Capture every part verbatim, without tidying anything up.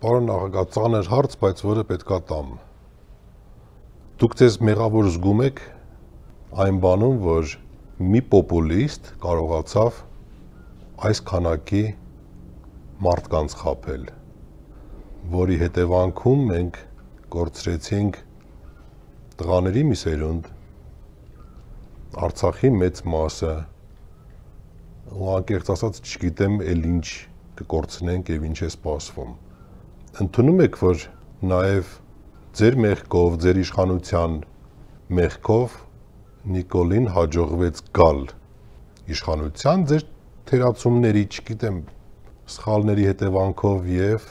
Պարոն նախագահ, ծանր հարց, բայց որը պետքա տամ։ Դուք ձեզ մեղավոր զգում եք այն բանում, որ մի պոպուլիստ կարողացավ այս քանակի մարդկանց խաբել, որի հետևանքում մենք կորցրեցինք տղաների մի սերունդ, Արցախի մեծ մասը, ու անկեղծ ասած չգիտեմ էլ ինչ կկորցնենք եւ ինչ է սպասվում։ Ընդունում եք, որ նաև ձեր մեղքով, ձեր իշխանության մեղքով Նիկոլին հաջողվեց գալ իշխանության, ձեր թերացումների, չգիտեմ, սխալների հետևանքով եւ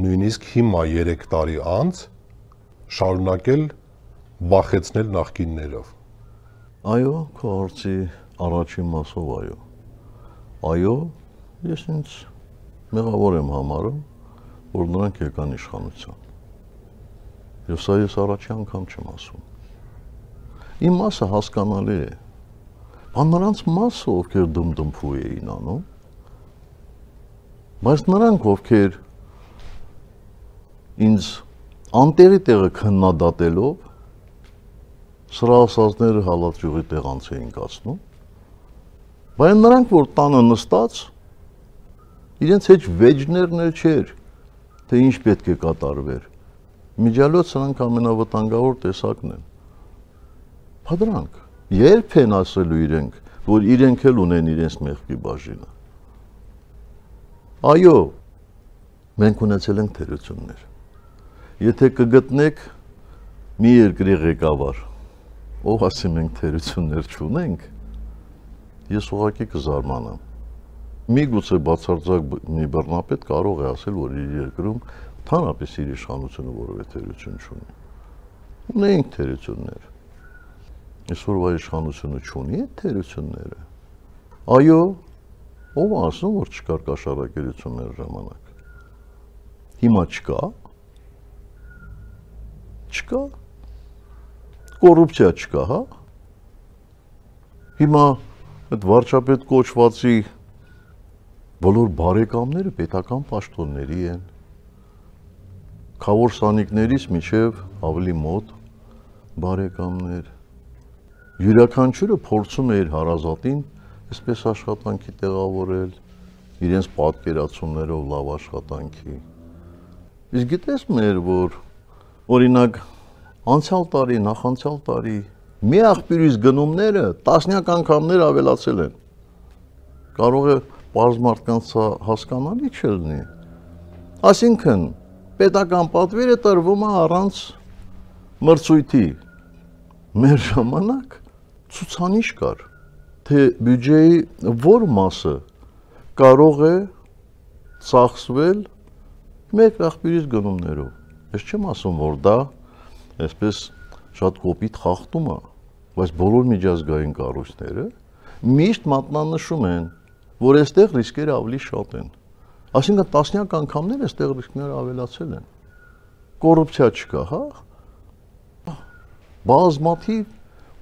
նույնիսկ հիմա երեք տարի անց շարունակել վախեցնել նախկիններով։ Այո, քո հարցի առաջին մասով այո։ Այո, ես ինձ մեղավոր եմ համարում, որ նրանք եկան իշխանության։ Եվ սա ես առաջի անգամ չեմ ասում։ Իմ մասը հասկանալի է, բան նրանց մասը, ովքեր դմդմփու էին անում, բայց նրանք, ովքեր ինձ անտեղի տեղը քննադատելով, սրա ասածները հալածյուղի տեղանց էին կացնում, բայց նրանք, որ տանը նստած, իրենց հետ վեճներն էլ չէր, թե ինչ պետք է կատարվեր, միջալոց սրանք ամենավտանգավոր տեսակն են։ Փադրանք, երբ են ասելու իրենք, որ իրենք էլ ունեն իրենց մեղքի բաժինը։ Այո, մենք ունեցել ենք թերություններ։ Եթե կգտնեք մի երկրի ղեկավար, ով ասի մենք թերություններ չունենք, ես ուղղակի կզարմանամ։ Միգուցե բացարձակ մի բռնապետ կարող է ասել, որ իր երկրում թանապես իր իշխանությունը որևէ թերություն չունի։ Ունենք թերություններ։ Այսօրվա իշխանությունը չունի այդ թերությունները։ Այո, ով ասում, որ չկար կաշառակերություններ ժամանակ։ Հիմա չկա։ Չկա։ Կոռուպցիա չկա, հա։ Հիմա այդ վարչապետ կոչվածի բոլոր բարեկամները պետական պաշտոնների են։ Քավոր սանիկներից մինչև ավելի մոտ բարեկամներ։ Յուրաքանչյուրը փորձում է իր հարազատին այսպես աշխատանքի տեղավորել, իրենց պատկերացումներով լավ աշխատանքի։ Իսկ գիտես մեր, որ օրինակ անցյալ տարի, նախանցյալ տարի մի աղբյուրից գնումները տասնյակ անգամներ ավելացել են։ Կարող է պարզ մարդկանց հասկանալի չլինի։ Այսինքն պետական պատվերը տրվում է առանց մրցույթի։ Մեր ժամանակ ցուցանիշ կար, թե բյուջեի որ մասը կարող է ծախսվել մեկ աղբյուրից գնումներով։ Ես չեմ ասում, որ դա այսպես շատ կոպիտ խախտում է, բայց բոլոր միջազգային կառույցները միշտ մատնանշում են, որ այստեղ ռիսկերը ավելի շատ են։ Այսինքն տասնյակ անգամներ այստեղ ռիսկները ավելացել են։ Կոռուպցիա չկա, հա։ Բազմաթիվ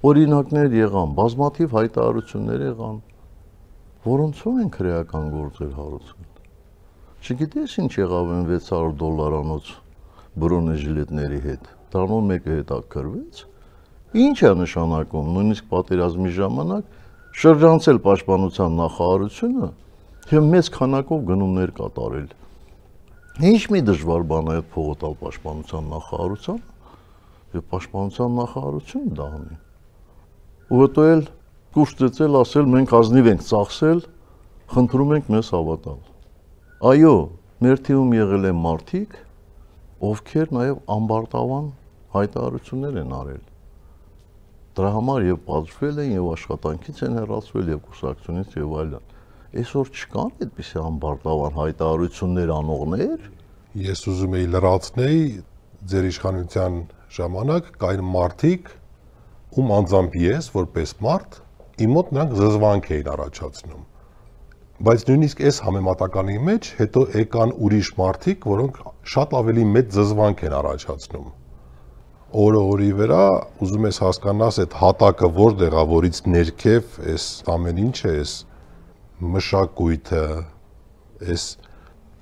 օրինակներ եղան, բազմաթիվ հայտարարություններ եղան, որոնցով են քրեական գործեր հարուցել։ Չգիտես ինչ եղավ այն վեց հարյուր դոլարանոց բրոնեժիլետների հետ, դրանով մեկը հետաքրվեց։ Ինչ է նշանակում, նույնիսկ պատերազմի ժամանակ շրջանցել պաշտպանության նախարարությունը եւ մեծ քանակով գնումներ կատարել։ Ինչ մի դժվար բան է այդ փողը տալ պաշտպանության նախարարության եւ պաշտպանության նախարարությունը դա անի։ Ու հետո էլ կուշտեցել ասել մենք ազնիվ ենք ծախսել, խնդրում ենք մեզ հավատալ։ Այո, մեր թիմում եղել են մարդիկ, ովքեր նաեւ ամբարտավան հայտարարություններ են արել։ Դրա համար եւ պատժվել են եւ աշխատանքից են հեռացվել եւ կուսակցությունից եւ այլն։ Այսօր չկան այդպիսի ամբարտավան հայտարարություններ անողներ։ Ես ուզում եի լրացնել ձեր իշխանության ժամանակ կային մարդիկ, ում անձամբ ես որպես մարդ, իմ մոտ նրանք զզվանք էին առաջացնում։ Բայց նույնիսկ այս համեմատականի մեջ հետո եկան ուրիշ մարդիկ, որոնք շատ ավելի մեծ զզվանք են առաջացնում։ Օրը օրի վրա ուզում ես հասկանաս այդ հատակը որտեղ է, որից ներքև այս ամեն ինչը, այս մշակույթը, այս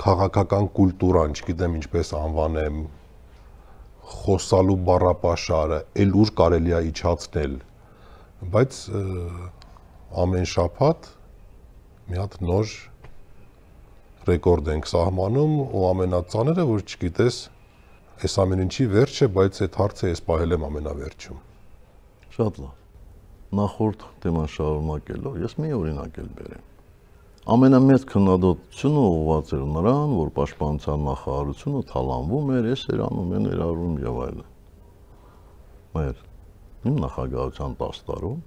քաղաքական կուլտուրան, չգիտեմ ինչպես անվանեմ, խոսալու բառապաշարը էլ ուր կարելի է իջացնել, բայց ամեն շաբաթ մի հատ նոր ռեկորդ ենք սահմանում ու ամենածանրը, որ չգիտես, այս ամեն ինչի վերջը, բայց այդ հարցը ես պահել եմ ամենավերջում։ Շատ լավ։ Նախորդ թեման շարունակելով, ես մի օրինակ էլ բերեմ։ Ամենամեծ քննադատությունը ուղղված էր նրան, որ պաշտպանության նախարարությունը թալանվում էր, էս էր անում, են ներառում եւ այլն։ Մեր իմ նախագահության տասը տարում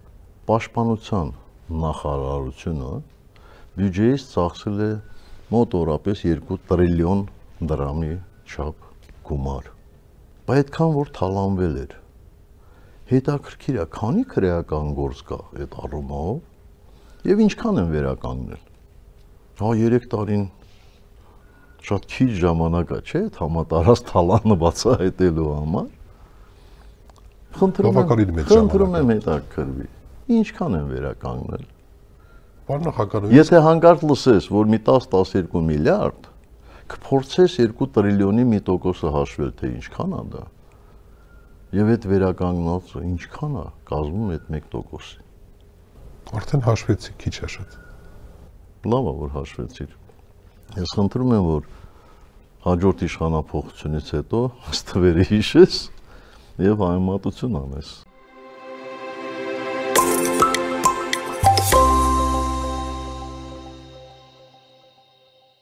պաշտպանության նախարարությունը բյուջեից ծախսել է մոտ օրապես երկու տրիլիոն դրամի չափ գումար։ Բայց այդքան որ թալանվել էր։ Հետաքրքիր է, քանի քրեական գործ կա այդ առումով եւ ինչքան են վերականգնել։ Հա երեք տարին շատ քիչ ժամանակ է, չէ՞, համատարած թալանը բացահայտելու համար։ Խնդրում եմ, խնդրում եմ հետաքրքրվի։ Ինչքան են վերականգնել։ Բառնախագահություն։ Եթե հանկարծ լսես, որ մի տասը տասներկու միլիարդ, կփորձես երկու տրիլիոնի մի տոկոսը հաշվել, թե ինչքան է դա։ Եվ այդ վերականգնածը ինչքան է կազմում այդ մեկ տոկոսի։ Արդեն հաշվեցի, քիչ է շատ։ Լավ է, որ հաշվեցիր։ Ես խնդրում եմ, որ հաջորդ իշխանափոխությունից հետո ըստ թվերի հիշես եւ համեմատություն անես։